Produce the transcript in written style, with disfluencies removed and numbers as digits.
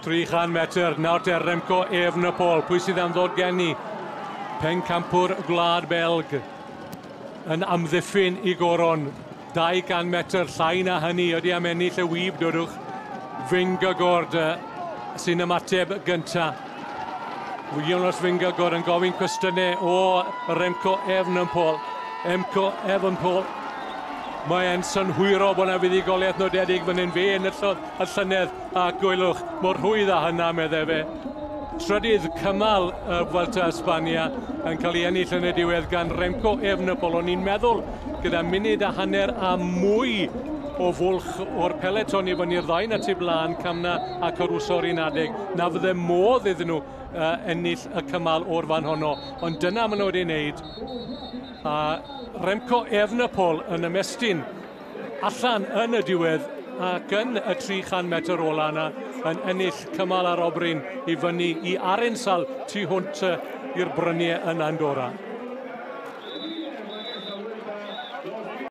300 metr, nawr te Remco Evenepoel. Pwy sydd am ddod gen i? Pencampwr Gwlad Belg yn amddiffyn i goron. 200 metr llai na hynny ydy am ennill y wib, dodwch. Vingegaard sy'n ymateb gynta. Jonas Vingegaard yn gofyn cwestiynau o Remco Evenepoel. Remco Evenepoel. Mae'n synhwyro bod yna fuddugoliaeth nodedig fan hyn fe enillodd y llynedd a gwylwch mor rhwydd â hynna, meddai fe. Trydydd cymal y Vuelta España yn cael ei ennill yn y diwedd gan Remco Evenepoel. O'n i'n meddwl gyda munud a hanner a mwy o fwlch o'r peleton i fyny'r ddau na tu blaen, Kamna a Caruso o'r un adeg, na fydde modd iddyn nhw ennill y cymal o'r fan honno. Ond dyna maen nhw wedi wneud. A Remco Evenepoel yn ymestyn allan yn y diwedd ac yn y 300 metr ola yna yn ennill cymal arobryn i fyny i Arinsal tu hwnt i'r bryniau yn Andorra.